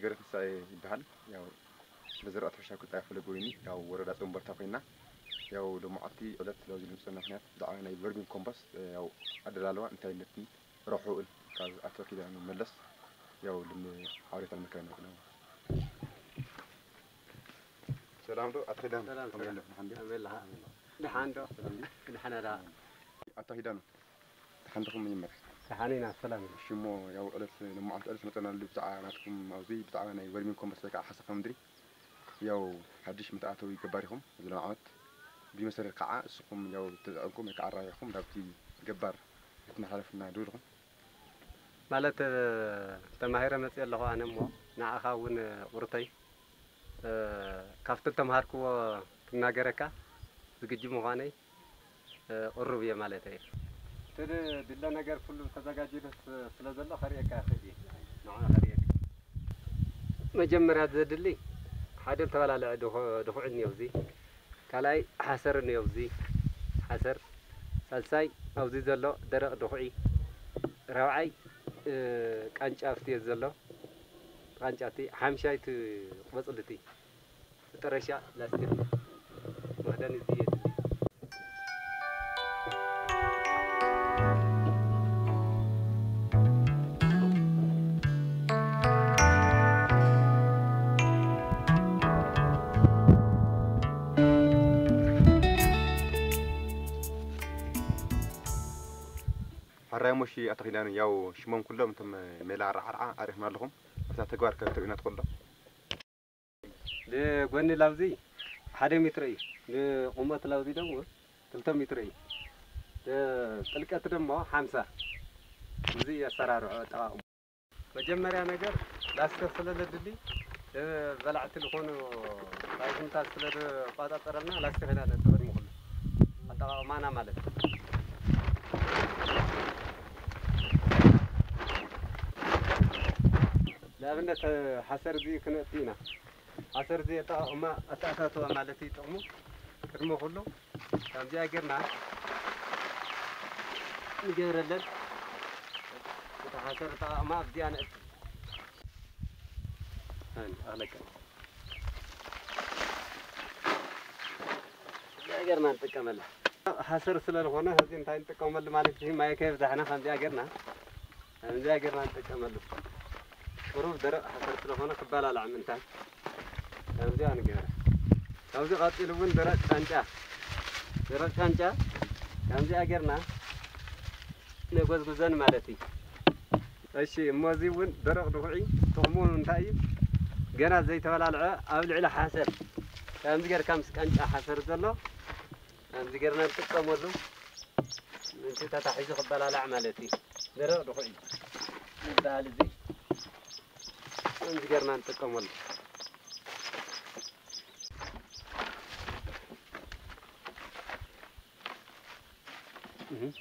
ገረትንሳኤ ይበሃል። ያው ስለ ዝራእቲ ሕርሻ ክልጣይ ፈለግ ወይኒ ያው ወረዳ ጸንበርታ ኮይና ያው ሎማዓልቲ ዕለት ለዚ ልምፅና ምክንያት ብዛዕባ ናይ ቨርሚን ኮምፖስት ያው ኣደላለዋ እንታይነትን ረብሕኡን ካብ ኣቶ ኪዳኑ መለስ ያው ልም ሓበሬታ ንምክረ ንክነ። ሰላም ዶ ኣቶ ኪዳኑ? ሰላም፣ ከመይ ሰላም። ኣለኹ? ደሓን ድዩ? ከመይ ኣለኻ? ደሓን ዶ? ሰላም ድዩ? ደሓን ኣላ። ኣቶ ኪዳኑ፣ ደሓን ዲኹም? መጀመርያ ደሓን ኢና፣ ሰላም ኢና። እሺ፣ እሞ ያው ዕለት፣ ሎማዓንቲ ዕለት መጸናሉ ብዛዕባ ናትኩም ኣብዚ ብዛዕባ ናይ ቨርሚን ኮምፖስት ወይ ከዓ ሓሰኻ ምድሪ ያው ሓድሽ መተኣታዊ ገባር ኢኹም። እዚ ሎም ዓመት ብመሰረት ከዓ እስኹም ያው ተጠቐምኩም ወይ ከዓ ኣራቢሕኩም ናብቲ ገባር ክትመሓላለፉና ዶ ኢኹም? ማለት፣ እ፣ ተማሂረ መፅእ ኣለኹ ኣነ እሞ ንዓኻ እውን ቁርተይ፣ እ፣ ካብቲ ተምሃርክዎ ክናገረካ ዝግጁ ምዃነይ፣ እ፣ ቅሩብ እየ ማለት እየ። እቲ ድለ ነገር ኩሉ ተዘጋጅዩ ስ-፣ ስለ ዘሎ ከርእየካ ይኽእል እየ። ንዓ ከርእየካ። መጀመርያ ዘድሊ ሓደ ዝተባላለዐ ድኹ-፣ ድኹዒ እኒኦ እዚ። ካልኣይ ሓሰር እኒኦ እዚ። ሓሰር። ሳልሳይ ኣብዚ ዘሎ ደረቕ ድኹዒ። ራብዓይ፣ እ፣ ቃንጫ ኣብቲ ዘሎ። ቃንጫ እቲ። ሓምሻይ እቲ ቆጽሊ እቲ። መጠረሻ ላስቲክ መኽደኒ እዚ የድሊ። ሕራይ ሞሺ ኣቶ ኪዳኑ፣ ያው ሽሞም ኩሎም እቶም ሜላ ኣረዓርዓ ኣሪኽና ኣለኹም። ኣብታ ተግባር ከ ትርእዩና ትኽእሉ ዶ? ንጎኒ ላውዚ ሓደ ሜትሮ እዩ። ንቁመት ላውዚ ደግሞ ክልተ ሜትሮ እዩ። ጥልቀት ደግሞ ሓምሳ። እዚ ኣሰራርዖ ኣጠቓቕሙ። መጀመርያ ነገር ላስቲክ ስለ ለድሊ፣ እ፣ በላዕቲ ዝኾኑ ባይዝምታት ስለ ዝቆጻጸረልና ላስቲክ ኢና ነጥቕም ንኹሉ ኣጠቓቕማና ማለት እዩ። ንኣብነት፣ ሓሰር እዚ ክነእቱ ኢና። ሓሰር እዚ ኣጠቓቕማ ኣተኣታትዋ ማለት እዩ ጥቕሙ። ቅድሚ ኩሉ ከምዚኣ ጌርና ንገብረለን። እታ ሓሰር ኣጠቓቕማ ኣብዚኣ ነእቱ። ኣን-፣ ኣኽለቀ። እዚኣ ጌርና ንጥቀመላ። ሓሰር ስለ ዝኾነ፣ ሕዚ እንታይ ንጥቀመሉ ማለት እዩ? ማይ ከየብዛሕና ከምዚኣ ጌርና፣ ከምዚኣ ጌርና ንጥቀመሉ። ቁሩብ ደረቕ ሓሰር ስለ ዝኾነ ክበላላዕ ምእንታን ከምዚኣ ንገብራ። ካብዚ ቀጺሉ እውን ደረቕ ቃንጫ፣ ደረቕ ቃንጫ ከምዚኣ ጌርና ነጎዝጉዘን ማለት እዩ። እሺ፣ እሞ እዚ እውን ደረቕ ድኹዒ ጥቕሙ እንታይ እዩ? ገና ዘይተበላልዐ ኣብ ልዕሊ ሓሰር ከምዚ ጌርካ ምስ ቃንጫ ሓሰር ዘሎ ከምዚ ጌርና ንጥቀመሉ። ምእንቲ ተታሒዙ ክበላላዕ ማለት እዩ። ደረቕ ድኹዒ ዝበሃል እዚ ከምዚ ጌርና ንጥቀመሉ። እህ።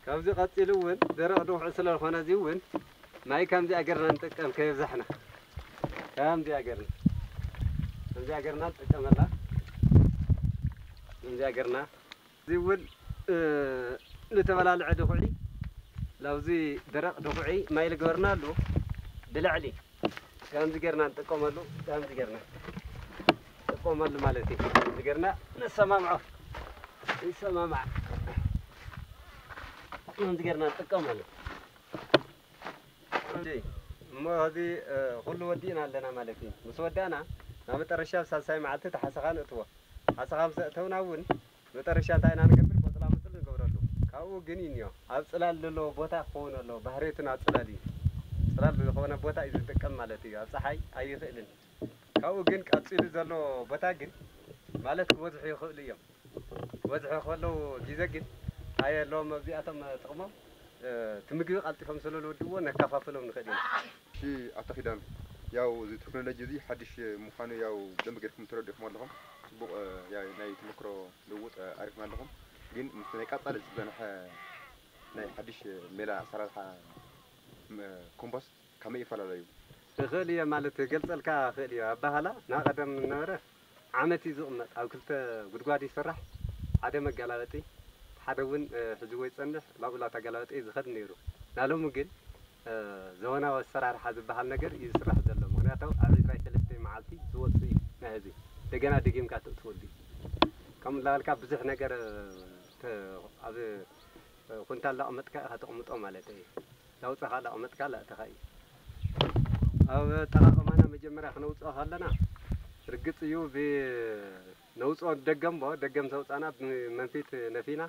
ካብዚ ቀጺሉ እውን ደረቕ ድኹዒ ስለ ዝኾነ እዚ እውን ማይ ከምዚኣ ጌርና ንጥቀም ከየብዛሕና። ከምዚኣ ጌርና፣ ከምዚኣ ጌርና ንጥቀመላ። ከምዚኣ ጌርና። እዚ እውን፣ እ፣ ንተበላልዐ ድኹዒ፣ ላብዚ ደረቕ ድኹዒ ማይ ልገበርናሉ ብላዕሊ ከምዚ ጌርና ንጥቀመሉ፣ ከምዚ ጌርና ንጥቀመሉ ማለት እዩ። ከምዚ ጌርና ነሰማምዖ፣ ይሰማማዕ። ከምዚ ጌርና ንጥቀመሉ። እንጂ እሞ፣ እዚ፣ እ፣ ኩሉ ወዲእና ኣለና ማለት እዩ። ምስ ወዳእና፣ ናብ መጠረሻ፣ ኣብ ሳልሳይ መዓልቲ፣ እቲ ሓሰኻ ንእትዎ። ሓሰኻ ምስ ኣእተውና እውን፣ መጠረሻ እንታይ ኢና ንገብር? ቆጽላ ምጽል ንገብረሉ። ካብኡ ግን እዩ እኒኦ፣ ኣብ ጽላል ዘለዎ ቦታ ክኸውን ኣለዎ። ባህርየቱን ኣብ ጽላል እዩ። ጽላል ዝኾነ ቦታ እዩ ዝጥቀም ማለት እዩ። ኣብ ጸሓይ ኣይኽእልን። ካብኡ ግን ቀጺሉ ዘሎ ቦታ ግን፣ ማለት፣ ክበዝሑ ይኽእሉ እዮም። ክበዝሑ ከለዉ ግዜ ግን ኣየለዎም። ኣብዚኣቶም ጥቕሞም፣ እ፣ እቲ ምግቢ ቀልጢፎም ስለ ዝወድእዎ ነከፋፍሎም ንኽእል ኢና። እሺ፣ ኣቶ ኪዳኑ፣ ያው እዚ ቴክኖሎጂ እዚ ሓድሽ ምዃኑ ያው ብደንቢ ጌርኩም ተረዲእኩም ኣለኹም። ጽቡቕ፣ እ፣ ያው ናይ ተመክሮ ልውውጥ፣ እ፣ ኣሪፍና ኣለኹም። ግን ምስ ናይ ቀጻሊ ዝጸንሐ ናይ ሓድሽ ሜላ ኣሰራርሓ፣ ም-፣ ኮምፖስት ከመይ ይፈላለዩ? ይኽእል እየ ማለት ገልጸልካ ይኽእል እየ። ኣባህላ ናይ ቀደም ነበረ ዓመት እዩ ዝቕመጥ። ኣብ ክልተ ጉድጓድ ይስራሕ። ሓደ መገላበጢ፣ ሓደ እውን ሕዝዎ ይጸንሕ፣ ናብኡ እናተገላበጠ እዩ ዝኸድ ነይሩ። ናሎሚ ግን ዘበናዊ ኣሰራርሓ ዝበሃል ነገር እዩ ዝስራሕ ዘሎ። ምኽንያቱ ኣብ ዕስራን ሰለስተን መዓልቲ ዝወጽእ እዩ ናይ ህዝቢ። እንደገና ደጊምካ ተእትወሉ እዩ። ከምኡ እናበልካ ብዙሕ ነገር ኣብ ኩንታል ላቕመጥካ ኢኻ ተቕምጦ ማለት እዩ። ላውጻኻ ላቕመጥካ ላእተኻ እዩ። ኣብ ኣጠቓቕማና መጀመርያ ክነውጽኦ ከለና ርግጽ እዩ፣ ነውጽኦ ደገም፣ ደገም ተውጻና ብመንፊት ነፊና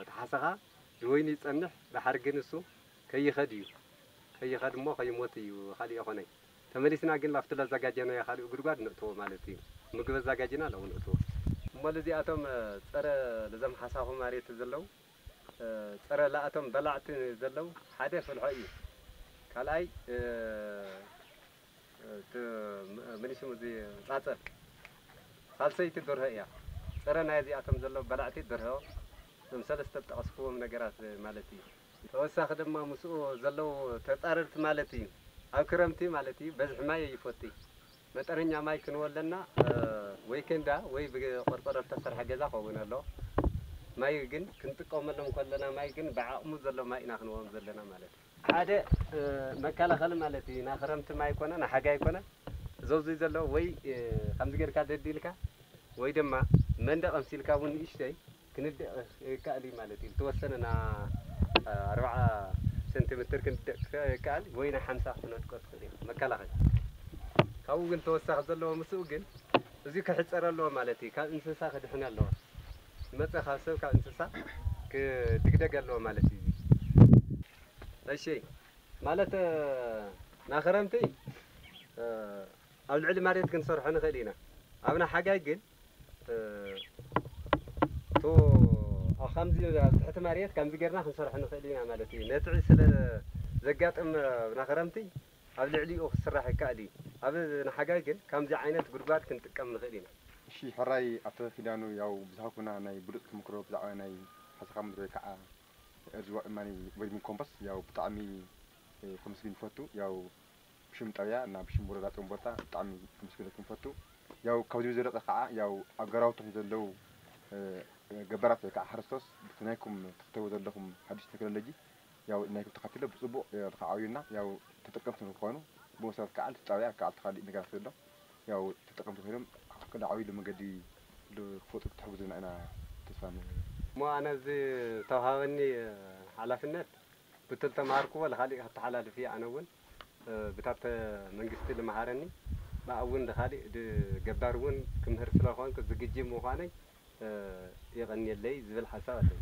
ተሓሰኻ ንወይኒ ይጸንሕ። ደሓር ግን እሱ ከይኸድ እዩ። ከይኸድ እሞ ከይሞት እዩ፣ ካልእ ይኾነይ። ተመሊስና ግን ላፍቲ ላዘጋጀናዮ ካልእ ጉድጓድ ነእትዎ ማለት እዩ። ምግቢ ኣዘጋጅና ለውን ነእትዎ። እሞ ለዚኣቶም ጸረ ለዘም ሓሳኹ ማሬት ዘለዉ ጸረ ላእቶም በላዕቲ ዘለዉ ሓደ ፍልሖ እዩ። ካልኣይ ምንሽም እዚ ጻጸ ሳልሰይቲ ደርሆ እያ። ጸረ ናይ እዚኣቶም ዘለዉ በላዕቲ ደርሆ እዞም ሰለስተ ጠቐስክዎም ነገራት ማለት እዩ። ተወሳኺ ድማ ምስኡ ዘለዉ ተጻረርቲ ማለት እዩ። ኣብ ክረምቲ ማለት እዩ በዝሒ ማይ ይፈቲ። መጠነኛ ማይ ክንወለና ወይ ኬንዳ ወይ ብቆርቆሮ ዝተሰርሐ ገዛ ከውን ኣሎ። ማይ ግን ክንጥቀመሎም ከለና ማይ ግን ብዓቕሙ ዘሎ ማይ ኢና ክንወም ዘለና ማለት እዩ። ሓደ መከላኸሊ ማለት እዩ። ና ክረምቲ ማይ ኮነ ና ሓጋይ ኮነ ዘውዙይ ዘሎ ወይ ከምዚ ጌርካ ደዲልካ ወይ ድማ መንደቕ ኣምሲልካ እውን ንእሽተይ ክንደቕ ይከኣል እዩ ማለት እዩ። ዝተወሰነ ና ኣርባዓ ሰንቲሜትር ክንደቕ ይከኣል ወይ ና ሓምሳ ክትነድቆ ትኽእል እዩ መከላኸሊ። ካብኡ ግን ተወሳኺ ዘለዎ ምስኡ ግን እዚ ክሕፀር ኣለዎ ማለት እዩ። ካብ እንስሳ ክድሕን ኣለዎ። ዝመፀ ካብ ሰብ ካብ እንስሳ ክድግደግ ኣለዎ ማለት እዩ። እሺ ማለት ና ክረምቲ ኣብ ልዕሊ መሬት ክንሰርሖ ንኽእል ኢና። ኣብ ናይ ሓጋይ ግን እ፣ እቱ ኣብ ከምዚ ኣብ ትሕቲ መሬት ከምዚ ጌርና ክንሰርሖ ንኽእል ኢና ማለት እዩ። ነትዒ ስለ ዘጋጥም ኣብ ናይ ክረምቲ ኣብ ልዕሊኡ ክስራሕ ይከኣል እዩ። ኣብ ንሓጋይ ግን ከምዚ ዓይነት ጉድጓድ ክንጥቀም ንኽእል ኢና። እሺ ሕራይ ኣቶ ኪዳኑ፣ ያው ብዝሃብኩና ናይ ብሉፅ ተመክሮ ብዛዕባ ናይ ሓሰኻ ምድሪ ወይ ከዓ እርዝዋ እማኒ ወይድሚን ኮምፖስ ያው ብጣዕሚ ከመስግን ይፈቱ። ያው ብሽም ጣብያ እና ብሽም ወረዳ ጨምቦልታ ብጣዕሚ ከመስግነኩም ፈቱ። ያው ካብዚ ብዝበለፀ ከዓ ያው ኣብ ገራውቶም ዘለዉ ገባራት ወይ ከዓ ሓረስቶስ ብቲ ናይኩም ትኽተቡ ዘለኹም ሓዱሽ ቴክኖሎጂ ያው ናይኩም ተኸትሎ ብፅቡቕ ክዓብዩና ያው ተጠቀምቲ ንክኾኑ ብመሰረት ከዓ እቲ ጣብያ ከዓ እቲ ካሊእ ነገራት ዘሎ ያው ተጠቀምቲ ኮይኖም ክዓብይሉ መንገዲ ክፈጥሩ ክትሕግዙና ኢና ተስፋ ንብል። እሞ ኣነ እዚ ዝተውሃበኒ ሓላፍነት ብትል ተምሃርክዎ ንኻሊእ ከተሓላልፍ እየ። ኣነ እውን ብታተ መንግስቲ ልመሃረኒ ብኣውን ድኻሊእ ገባር እውን ክምህር ስለኾንኩ ዝግጅ ምዃነይ የቐንየለይ ዝብል ሓሳብ ኣለኒ።